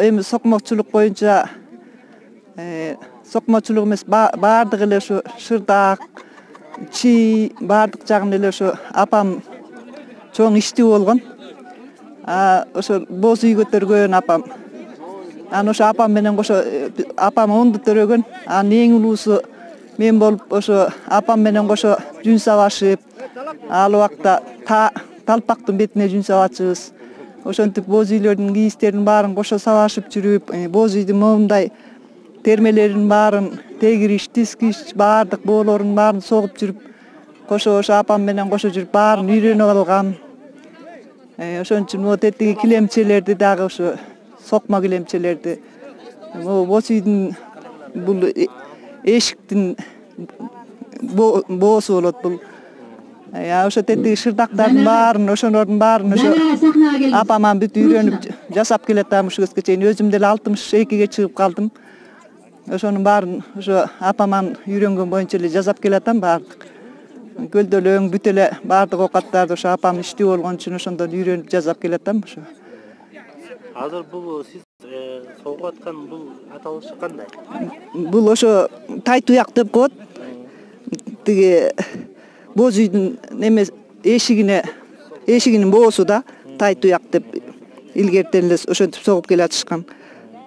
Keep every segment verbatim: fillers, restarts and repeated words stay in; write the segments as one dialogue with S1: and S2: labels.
S1: эми сокмокчулук боюнча сокмочулук эмес, баардык эле ушу шырдаак, чий баардык жагын эле ошо апам чоң иштүү болгон. Ошо боз үй көтөргөн апам. Анан ошо апам менен кошо апам онду төрөгөн. Анын эң улуусу мен болуп ошо апам менен кошо жүн сабашып, ал убакта талпактын бетине жүн сабачыбыз. Ошентип боз үйлөрдүн кийизтерин баарын кошо сабашып жүрүп, боз үйдүн моундай термелерин баарын, тегириш, тискич баардык боолорун баарын согуп жүрүп, кошо ошо апам менен кошо жүрүп баарын үйрөнүп алгам. Ошон үчүн могу тетиги килемчелерди дагы ошо сокмо килемчелерди, могу боз үйдүн бул эшиктин боосу болот бул. Ошо тетиги шырдактардын баарын, ошолордун баарын ошо апаман бүт үйрөнүп жасап келатам ушул кезге чейин. Өзүм деле алтымыш экиге чыгып калдым. Ошонун баарын ошо апаман үйрөнгөн боюнча эле жасап келатам баардык. Көлдөлөң бүт эле баардык оокаттарды ошо апам иштүү болгон үчүн ошондон үйрөнүп жасап келатам ошо.
S2: Азыр бул сиз согуп аткан бул аталышы кандай?
S1: Бул ошо тай туяк деп коет. Тиги боз үйдүн неме эшигине, эшигинин боосу да тай туяк деп илгертен эле ошентип согуп келатышкан.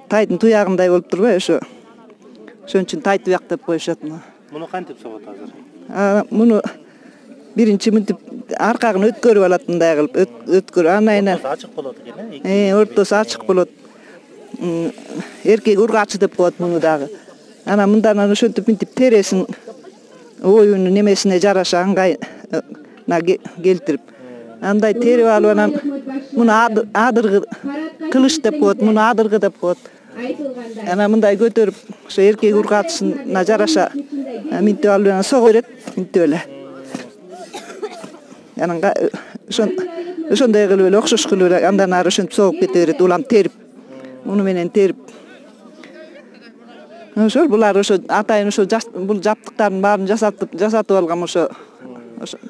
S1: Тайдын туягындай болуп турбайбы ошо. Ошон үчүн тай туяк деп коюшат.
S2: Муну кантип согот азыр?
S1: Муну биринчи мынтип аркагын өткөрүп алат, мындай кылып өткөрүп, анайынан
S2: ортосу ачык болот экен, э?
S1: Э, ортосу ачык болот. Эркек ургачы деп коет муну дагы. Анан мындан ошентип мынтип тересин оюнун немесине жараша ыңгайына келтирип, андай терип алып, анан муну адыргы кылыч деп коет, муну адыргы деп коет. Анан мындай көтөрүп, ошо эркек ургачысына жараша минтип алып анан сого берет, минтип эле. Анан ошондой кылып эле, окшош кылып эле андан ары ошентип согуп кете берет, улам терип. Муну менен терип. Ошол булар ошо атайын ошо бул жаптыктардын баарын жасатып, жасатып алгам ошо.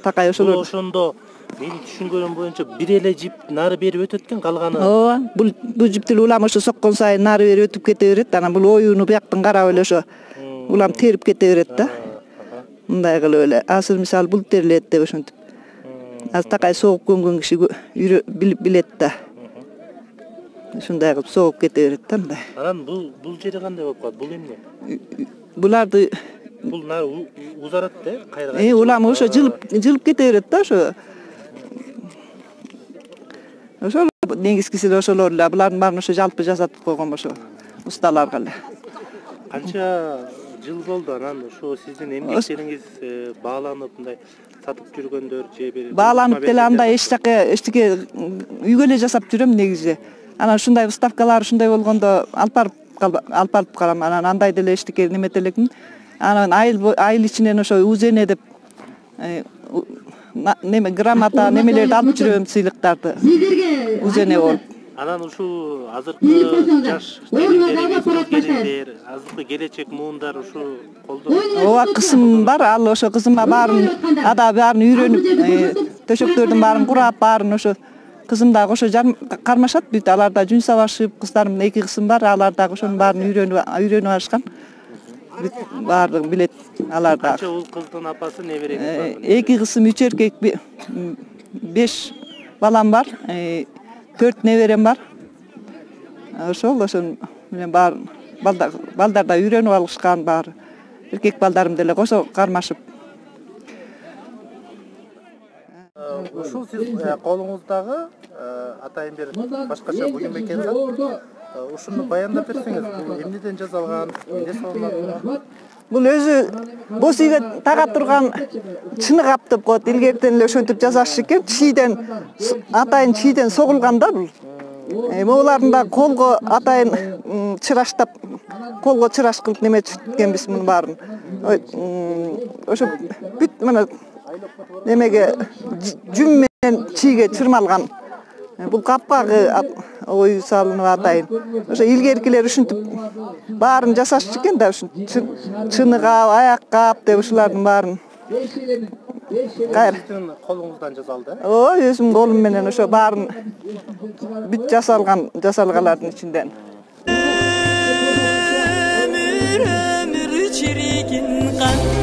S1: Такай ошолор.
S2: Бул ошондо менин түшүнгөнүм боюнча бир эле жип нары бери өтөт экен, калганы.
S1: Ооба, бул бул жип деле улам ошо соккон сайын нары бери өтүп кете берет. Анан бул оюну бияктан карап эле ошо улам терип кете берет да. Мындай кылып эле. Азыр мисалы бул терилет деп ошентип. Азыр такай согуп көнгөн киши билет да. Ушундай кылып согуп кете берет да мындай.
S2: Анан бул бул жери кандай болуп калат? Бул эмне?
S1: Буларды
S2: бул нары узарат да, кайра.
S1: Э, улам ошо жылып жылып кете берет да ошо. Ошол негизгиси эле ошолор эле. Булардын баарын ошо жалпы жасатып койгон ошо усталарга эле.
S2: Канча жыл болду анан ошо сиздин эмгектериңиз бааланып мындай сатып жүргөндөр же бир
S1: бааланып деле андай эч жака эчтеке үйгө эле жасап жүрөм негизи. Анан ушундай уставкалар ушундай болгондо алып барып алып барып калам. Анан андай деле эчтеке немете элекмин. Анан айыл айыл ичинен ошо узене деп неме грамота немелерди алып жүрөм, сыйлыктарды. Узене болуп.
S2: Анан ушул азыркы жаш келиндер, азыркы келечек муундар ушу колдонот.
S1: Ооба, кызым бар, ал ошо кызыма баарын ада баарын үйрөнүп, төшөктөрдүн баарын курап, баарын ошо кызым дагы ошо кармашат бүт. Алар да жүн сабашып, кыздарым эки кызым бар, алар дагы ошонун баарын үйрөнүп үйрөнүп алышкан. Бүт баардыгын билет алар дагы.
S2: Канча уул кыздын апасы, небереңиз бар?
S1: Эки кызым, үч эркек, беш балам бар. Төрт неберем бар. Ошол ошон менен баарын балдар да үйрөнүп алышкан баары. Эркек балдарым деле кошо кармашып.
S2: Ушул сиз колуңуздагы атайын бир башкача буюм экен да. Ушуну баяндап берсеңиз, бул эмнеден жасалган, эмне салынат?
S1: Бул өзү боз үйгө тага турган чыныгап деп коет. Илгертен эле ошентип жасашчу экен. Чийден атайын чийден согулган да бул. Могуларын да колго атайын чыраштап, колго чыраш кылып неметкенбиз муну баарын. Ошо бүт мына немеге жүн менен чийге чырмалган. Бул капкагы ою салынып атайын. Ошо илгеркилер ушинтип баарын жасашчу экен да, чыныгап, аяк-кап деп ушулардын баарын.
S2: Сиздин колуңуздан жасалды?
S1: Ооба, өзүмдүн колум менен ошо баарын бүт жасалган, жасалгалардын ичинден.
S3: чыккан